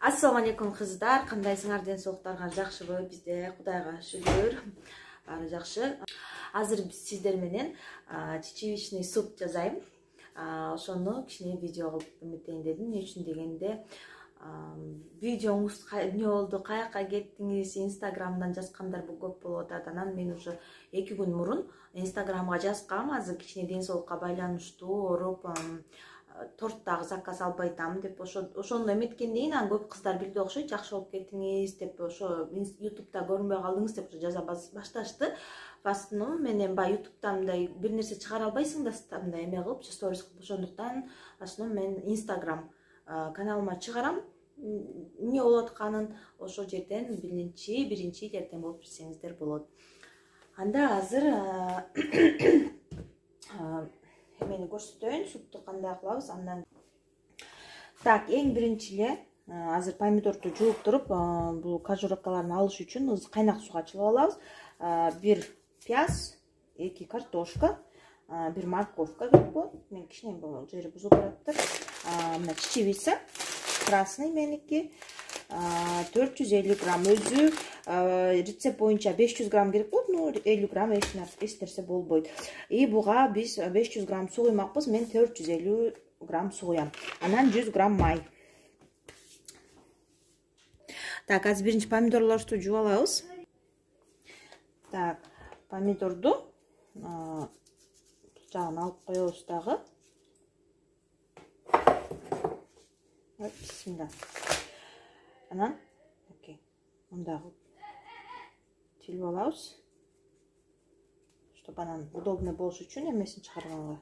Assalamu alaikum kızlar. Kandayсыңар, ден соолуктарыңар жакшыбы? Бизде Кудайга шүгүр баары жакшы. Азыр биз сиздер менен чечевичный суп жасайм. Ошону кичине видео кылып үмүттейин дедим. Эмне үчүн дегенде, видеоңуз эмне болду, каяка кеттиңиз, Инстаграмдан жазгандар көп болуп атат. Анан мен уже 2 күн мурун Инстаграмга жазгам. Азыр кичине ден соолукка байланыштуу ооруп, торттагы заказ албай атам деп ошону эметкенден кийин көп кыздар билди окшойт, жакшы болуп кеттиңиз деп, ошо YouTube'да көрүнбөй калдыңыз деп жаза башташты. В основном мен эми баягы YouTube'да мындай бир нерсе чыгара албайсың да мындай эме кылып, сторис кылып, ошондуктан в основном мен Instagram каналыма чыгарам. Эмне болуп атканын ошол жерден биринчи эртең болуп билсеңиздер болот. Анда азыр эмени көрсөтөйүн, супту кандай кылабыз. Андан так, эң биринчи эле азыр помидорду жууп туруп, бул кожуравкаларын алыш үчүн кайнак сууга чыгып алабыз. 1 пияз, 2 картошка, 1 морковка керек болот. Мен кичине бул жери бузулуп бараттыр. Мына чечевица красный меники, 450 грамм, өзү рецепт боюнча 500 грамм керек болот, но 50 грамм эч нерсе болбойт. И буга биз 500 грамм суу куймакпыз, мен 450 грамм суу куям. Анан 100 грамм май. Так, азыр биринчи помидорлорду жууп алабыз. Так, помидорду жагын алып коебуз дагы. Бисмилла. Анан, окей, мындагы тилип алабыз. Чтоб анан удобный болуш үчүн эмесин чыгарганга.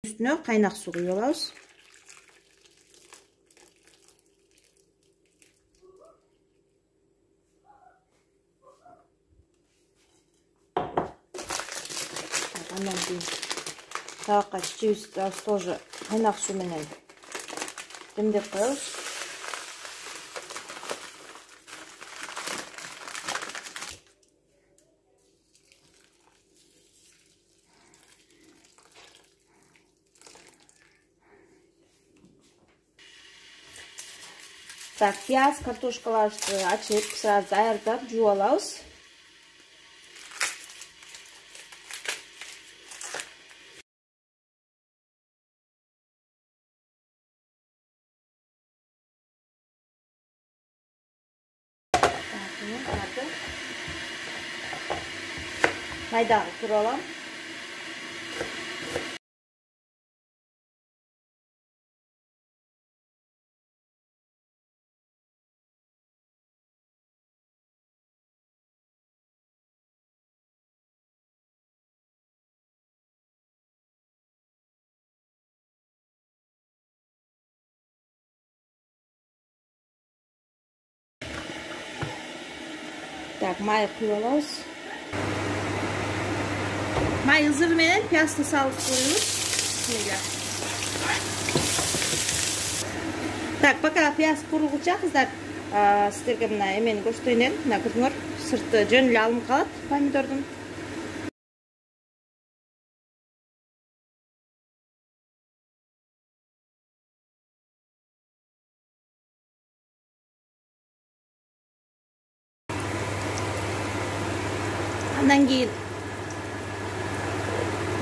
Үстүнө кайнак суу куюп алабыз. Андан кийин табакка чечебизди тоже кайнак суу менен демдеп коебуз. Так, пияз, картошкаларды ачып, сразу даярдап жууп алабыз. Майдагы туруп алам. Так, май куюп алабыз. Май ызыры менен пиязды салып коебуз. Так, пока пияз курулгуча кыздар, сиздерге мына эмени көрсөтөйүн дедим. Мына көрдүңөр, сырты жөн эле алынып калат помидордун. Андан кийин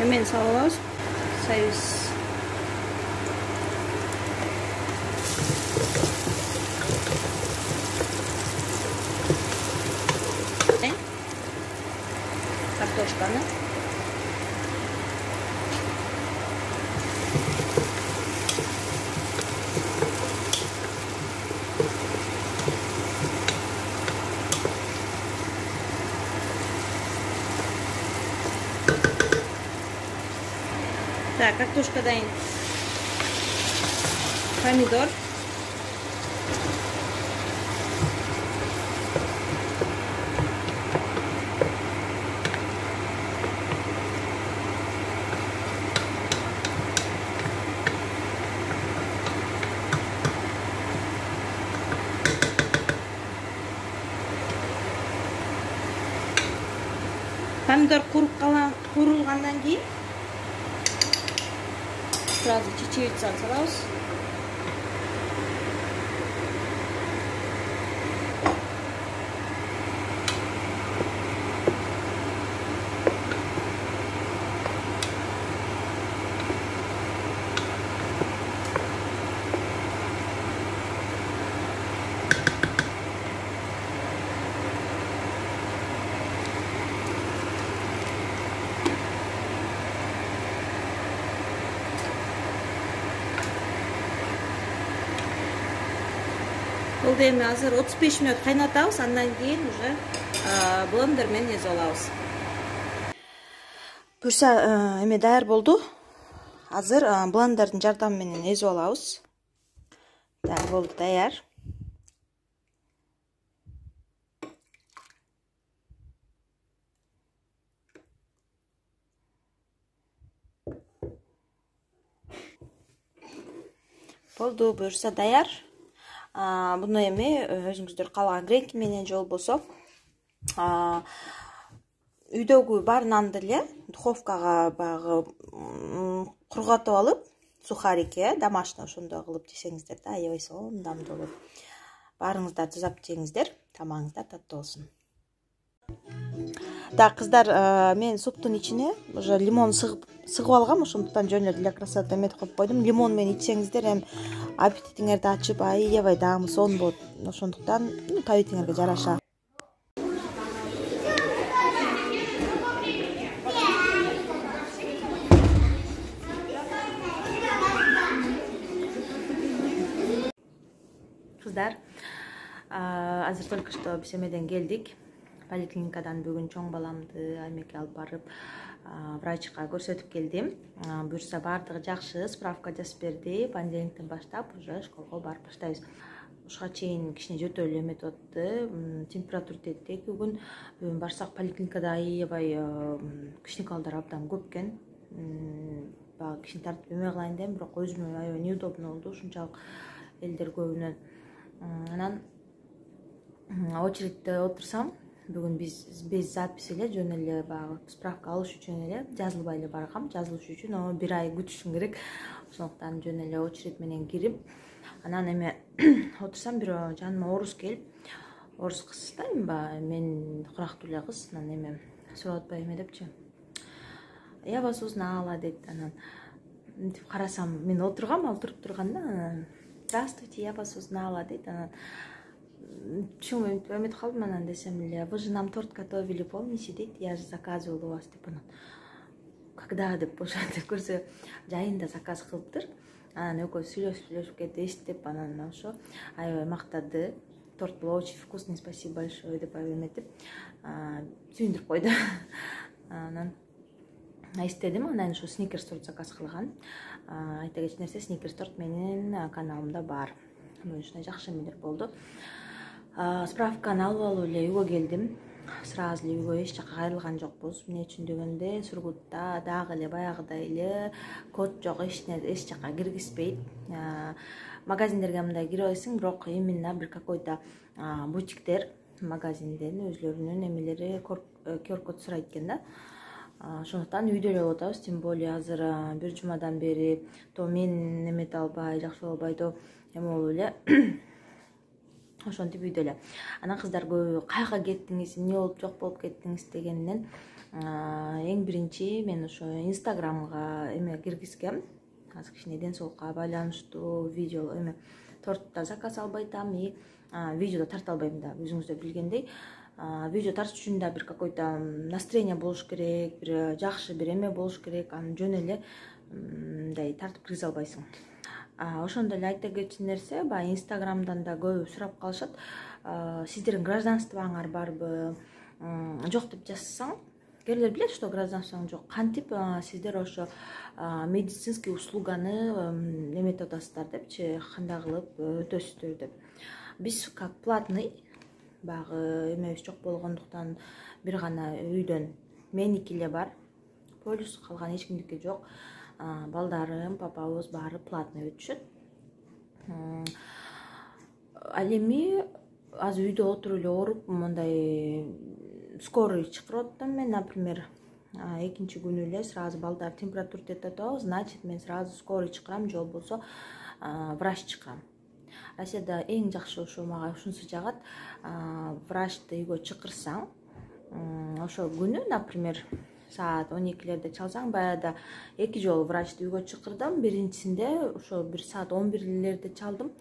эмени салып алабыз. Союз. Картошканы. Так, картошкадан помидор. Помидор куурулгандан кийин сразу чечевицаны салабыз. Бул эми азыр 35 мүнөт кайнатабыз, андан кийин уже блендер менен эзип алабыз. Буюрса эме даяр болду. Азыр блендердин жардамы менен эзип алабыз. Даяр болду, даяр. Болду, буюрса даяр. Буну эми өзүңүздөр каалаган гренки менен же болбосо үйдөгү бар нанды эле духовкага багы кургатып алып, сухарики, домашний ошондой кылып жесеңиздер да, аябай сондамдуу болот. Баарыңыздар жасап жеңиздер, тамагыңыздар таттуу болсун. Да, кыздар, мен суптун ичине уже лимон сыгып алгам, ошондуктан жөн эле для красоты эметип коюп койдум. Лимон менен ичсеңиздер эми аппетитиңерди ачып, аябай даамы сонун болот. Ошондуктан табитиңерге жараша. Кыздар, азыр только что биз эмеден келдик. Поликлиникадан бүгүн чоң баламды аймекке алып барып, врачка көрсөтүп келдим. Буюрса баардыгы жакшы, справка жазып берди. Понедельниктен баштап уже школго барып баштайбыз. Ушуга чейин кичине жөтө эле эметип атты. Температура тетти 2 күн. Бүгүн барсак поликлиникада аябай кичинекалдар абдан көп экен. Багы кичине тартып эме кылайын дедим, бирок өзүмө аябай неудобно болду. Ушунчалык элдер көбүнөн. Анан очередте отурсам, бүгүн биз запись эле жөн эле багы справка алыш үчүн эле жазылбай эле баргам. Жазылыш үчүн 1 ай күтүшүм керек. Ошондуктан жөн эле очередь менен кирип, анан эме отурсам, бир жаныма орус келип, орус кыз да, мен курактуу эле кыз, анан эме сурап атпайбы эме депчи. Ябасыбыз наала дейт. Анан мынтип карасам, мен отургам, ал туруп турганда, здравствуйте, ябасыбыз наала дейт. Анан чоң эметип калдым, анан десем эле, вы же нам торт готовили, помните, дейт, я же заказывала у вас, деп. Анан когда деп ошентип көрсө жайында заказ кылыптыр. Анан экөөбүз сүйлөшүп кетти, эстип, анан ошо аябай мактады. Торт был очень вкусный, спасибо большое деп эметип сүйүндүрүп койду. Анан эстедим, анан ошо сникерс торт заказ кылган. Айта кетчү нерсе, сникерс торт менин каналымда бар. Ушундай жакшы эмелер болду. Справканы алып алып эле үйгө келдим. Сразу эле үйгө эч жака кайрылган жокпуз. Эмне үчүн дегенде, Сургутта дагы эле баягыдай эле код жок, эч жака киргизбейт. Магазиндерге мындай кирип алсаң, бирок именно бир какой-то бутиктер магазинден өзлөрүнүн эмелери QR-код сурайт экен да. Ошондуктан үйдө эле болуп атабыз. Тем более азыр бир жумадан бери то мен эмете албай, жакшы боло албай, то эме болуп эле. Ошентип үйдө эле. Анан кыздар көбү кайга кеттиңиз, эмне болуп жок болуп кеттиңиз дегенден эң биринчи мен ошо Инстаграмга эме киргизгем. Азыр кичине ден соолукка байланыштуу видео эме тортто заказ албай атам, и видеодо тарта албайм да. Өзүңүздөр билгендей, видео тартыш үчүн да бир какой-то настроение болуш керек, бир жакшы бир эме болуш керек. Аны жөн эле мындай тартып киргизе албайсың. Ошондой эле айта кетчү нерсе, баягы Инстаграмдан да көбү сурап калышат. Сиздердин гражданствоңар барбы? Жок деп жазсаң, кээрлер билет, что гражданствоң жок. Кантип сиздер ошо медицинский услуганы эметип атасыздар депчи, кандай кылып өтөсүздөр деп. Биз как платный, багы эмебиз жок болгондуктан бир гана үйдөн меники эле бар. Полис калган эч кимдики жок. Балдарым, папабыз баары платный өтүшөт. Ал эми азыр үйдө отуруп эле ооруп, мындай скорый чакырып атам мен, например, экинчи күнү эле сразу балдар температура тетип атабы, значит мен сразу скорый чакырам же болбосо врач чакырам. Россияда эң жакшы ошо мага ушунусу жагат. Врачты үйгө чакырсаң, ошол күнү, например, саат 12-лерде чалсаң, баягыда 2 жолу врачты үйгө чакырдым. Биринчисинде ошо бир саат 11-лерде чалдым.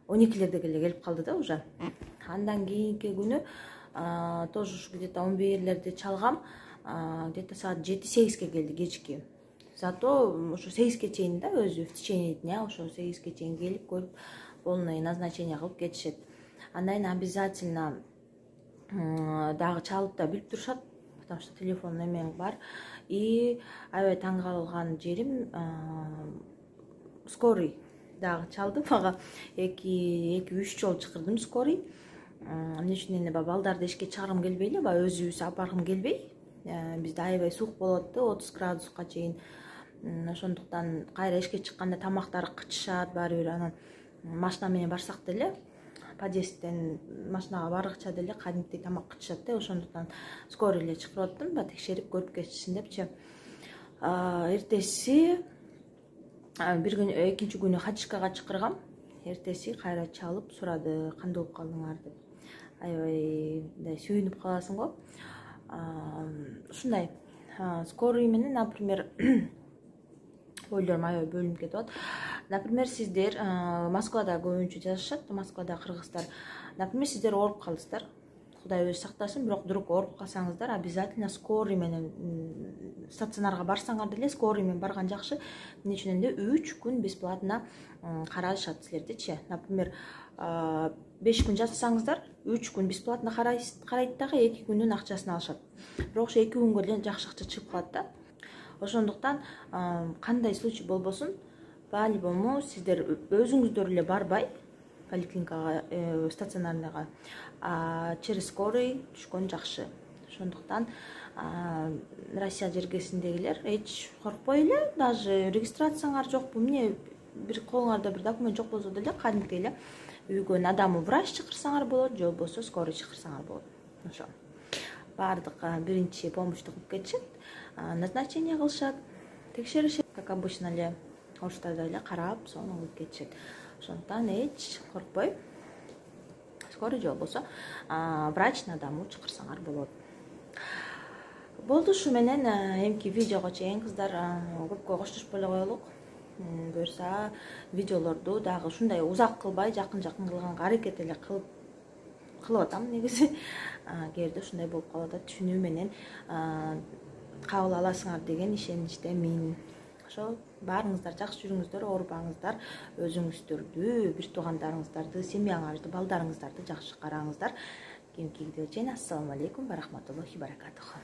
12-лерде келип калды да уже. Андан кийинки күнү тоже где-то 11-лерде чалгам. Где-то саат 7-8-ге келди кечки. Зато ошо 8-ге чейин да өзү в течение дня ошо 8-ге чейин келип көрүп полное назначение кылып кетишет. Андан кийин обязательно дагы чалып да билип турушат, потому что телефон эмең бар. И аябай таң калган жерим, скорый дагы чалды мага. 2-3 жолу чакырдым скорый. Эмне үчүн эле балдарды эшикке чыгаргым келбей эле, өзүбүз апаргым келбей. Бизде аябай суук болот да, 30 градуска чейин. Ошондуктан кайра эшикке чыкканда тамактары кычышат баары бир. Анан машина менен барсак деле, подъездден машинага баргыча деле кадимки тамак кычышат да. Ошондуктан скорый эле чакырып аттым, текшерип көрүп кетишсин депчи. Эртеси бир күн, экинчи күнү хатишкага чакыргам. Эртеси кайра чалып сурады, кандай болуп калдыңар деп. Аябай мындай сүйүнүп каласың го. Ушундай скорый менен, например, ойлорум аябай бөлүнүп кетип атат. Например, сиздер Москвада көбүнчө жашашат, Москвада кыргыздар. Например, сиздер ооруп калдыңыздар. Кудай өзү сактасын, бирок вдруг ооруп калсаңыздар, обязательно скорый менен стационарга барсаңар деле, скорый менен барган жакшы. Эмне үчүн дегенде 3 күн бесплатно карашат силердичи. Например, 5 күн жатсаңыздар, 3 күн бесплатно карайт дагы, 2 күнүн акчасын алышат. Бирок ошо 2 күнгө деле жакшы акча чыгып калат да. Ошондуктан кандай случай болбосун, по-любому сиздер өзүңүздөр эле барбай поликлиникага, стационарныйга, через скорый түшкөн жакшы. Ошондуктан Россия жергесиндегилер эч коркпой эле, даже регистрацияңар жокпу, эмне бир колуңарда бир документ жок болсо деле, кадимки эле үйгө надамы врач чакырсаңар болот, же болбосо скорый чакырсаңар болот. Ошо баардык биринчи помощьту кылып кетишет, назначение кылышат, текшеришет, как обычно эле оштарда эле карап, сону кылып кетишет. Ошондуктан эч коркпой скорый же болбосо врач надамы чакырсаңар болот. Болду, ушу менен эмки видеого чейин кыздар көпкө коштошпой эле коелук. Буюрса видеолорду дагы ушундай узак кылбай, жакын кылганга аракет эле кылып атам негизи. Кээде ушундай болуп калып атат, түшүнүү менен кабыл аласыңар деген ишеничтемин. Ошо баарыңыздар жакшы жүрүңүздөр, оорубаңыздар, өзүңүздөрдү, бир туугандарыңыздарды, семьяңарды, балдарыңыздарды жакшы караңыздар. Кийинки видеого чейин ассаламу алейкум ва рахматуллахи баракатуху.